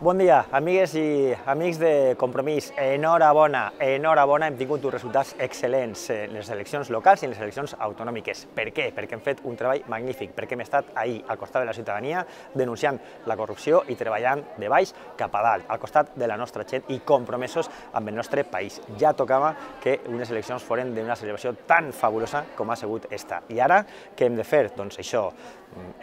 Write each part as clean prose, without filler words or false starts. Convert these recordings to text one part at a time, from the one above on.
Bon dia, amigues i amics de Compromís. Enhorabona, hem tingut uns resultats excel·lents en les eleccions locals i en les eleccions autonòmiques. Per què? Perquè hem fet un treball magnífic, perquè hem estat ahir al costat de la ciutadania denunciant la corrupció i treballant de baix cap a dalt, al costat de la nostra gent i compromesos amb el nostre país. Ja tocava que unes eleccions foren d'una celebració tan fabulosa com ha sigut esta. I ara què hem de fer? Doncs això,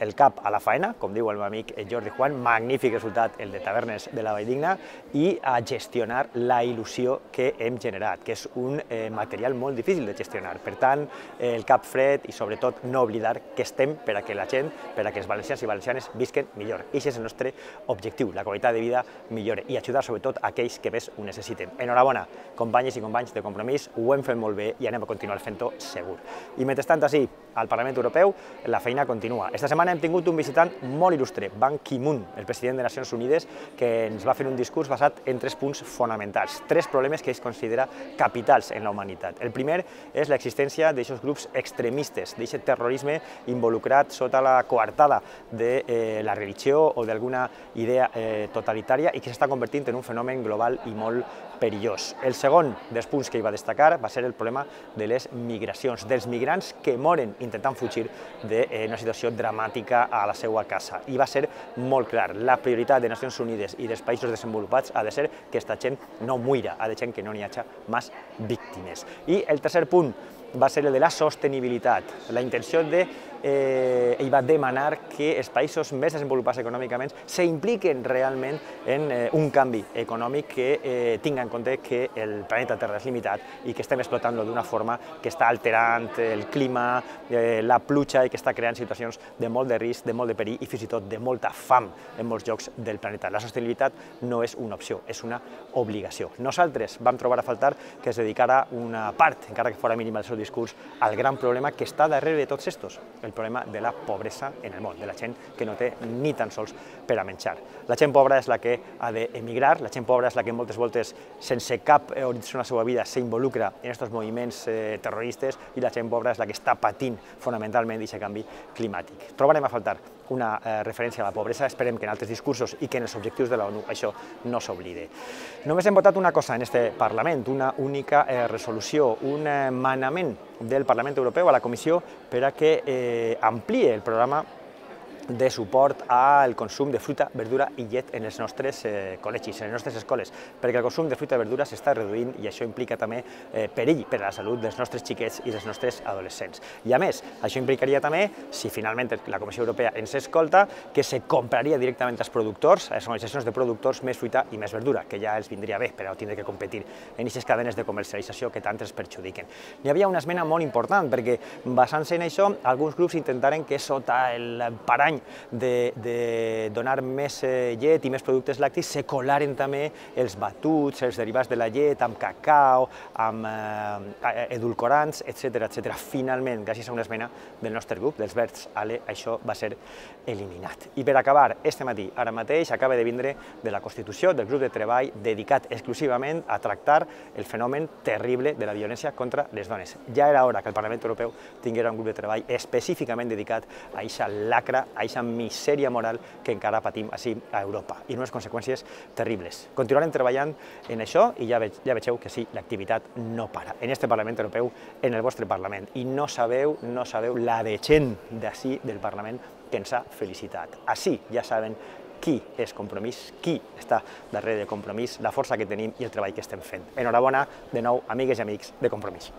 el cap a la faena, com diu el meu amic Jordi Juan, magnífic resultat el de Tavernes de la Valldigna, i a gestionar la il·lusió que hem generat, que és un material molt difícil de gestionar. Per tant, el cap fred i sobretot no oblidar que estem per a que la gent, per a que els valencians i valencianes visquen millor. I aquest és el nostre objectiu, la qualitat de vida millore i ajudar sobretot a aquells que més ho necessiten. Enhorabona, companyes i companys de Compromís, ho hem fet molt bé i anem a continuar fent-ho segur. I mentrestant, ací, al Parlament Europeu, la feina continua. Esta setmana hem tingut un visitant molt il·lustre, Ban Ki-moon, el president de Nacions Unides, que ens va fer un discurs basat en 3 punts fonamentals, 3 problemes que ell considera capitals en la humanitat. El primer és l'existència d'aquests grups extremistes, d'aquest terrorisme involucrat sota la coartada de la religió o d'alguna idea totalitària i que s'està convertint en un fenomen global i molt perillós. El segon dels punts que ell va destacar va ser el problema de les migracions, dels migrants que moren intentant fugir d'una situació dramàtica a la seva casa. I va ser molt clar, la prioritat de Nacions Unides i dels països desenvolupats ha de ser que aquesta gent no muira, ha de ser que no n'hi hagi més víctimes. I el tercer punt va ser el de la sostenibilitat, la intenció de ell va demanar que els països més desenvolupats econòmicament s'impliquen realment en un canvi econòmic que tingui en compte que el planeta Terra és limitat i que estem explotant-lo d'una forma que està alterant el clima, la pluja i que està creant situacions de molt de risc, de molt de perill i fins i tot de molta fam en molts llocs del planeta. La sostenibilitat no és una opció, és una obligació. Nosaltres vam trobar a faltar que es dedicara una part, encara que fora mínima el seu discurs, al gran problema que està darrere de tots estos, el problema de la pobresa en el món, de la gent que no té ni tan sols per a menjar. La gent pobra és la que ha d'emigrar, la gent pobra és la que moltes voltes, sense cap horitzó a la seva vida, s'involucra en aquests moviments terroristes i la gent pobra és la que està patint fonamentalment aquest canvi climàtic. Trobarem a faltar una referència a la pobresa, esperem que en altres discursos i que en els objectius de la ONU això no s'oblide. Només hem votat una cosa en aquest Parlament, una única resolució, un manament del Parlament Europeu a la Comissió per a que ampliï el programa de suport al consum de fruita, verdura i llet en els nostres col·legis, en les nostres escoles, perquè el consum de fruita i verdura s'està reduint i això implica també perill per a la salut dels nostres xiquets i dels nostres adolescents. I a més, això implicaria també, si finalment la Comissió Europea ens escolta, que se compraria directament als productors, a les organitzacions de productors, més fruita i més verdura, que ja els vindria bé per a no tindre que competir en aquestes cadenes de comercialització que tant els perjudiquen. Hi havia una esmena molt important, perquè basant-se en això, alguns grups intentaren que sota el parany de donar més llet i més productes làctics se colaren també els batuts, els derivats de la llet, amb cacau, amb edulcorants, etc. Finalment, gràcies a una esmena del nostre grup, dels Verds ALE, això va ser eliminat. I per acabar, este matí, ara mateix, acaba de vindre de la constitució del grup de treball dedicat exclusivament a tractar el fenomen terrible de la violència contra les dones. Ja era hora que el Parlament Europeu tinguera un grup de treball específicament dedicat a aquesta lacra, a aquesta misèria moral que encara patim ací a Europa i unes conseqüències terribles. Continuarem treballant en això i ja vegeu que sí, l'activitat no para. En este Parlament Europeu, en el vostre Parlament. I no sabeu la de gent d'ací del Parlament que ens ha felicitat. Ací ja saben qui és Compromís, qui està darrere de Compromís, la força que tenim i el treball que estem fent. Enhorabona, de nou, amigues i amics de Compromís.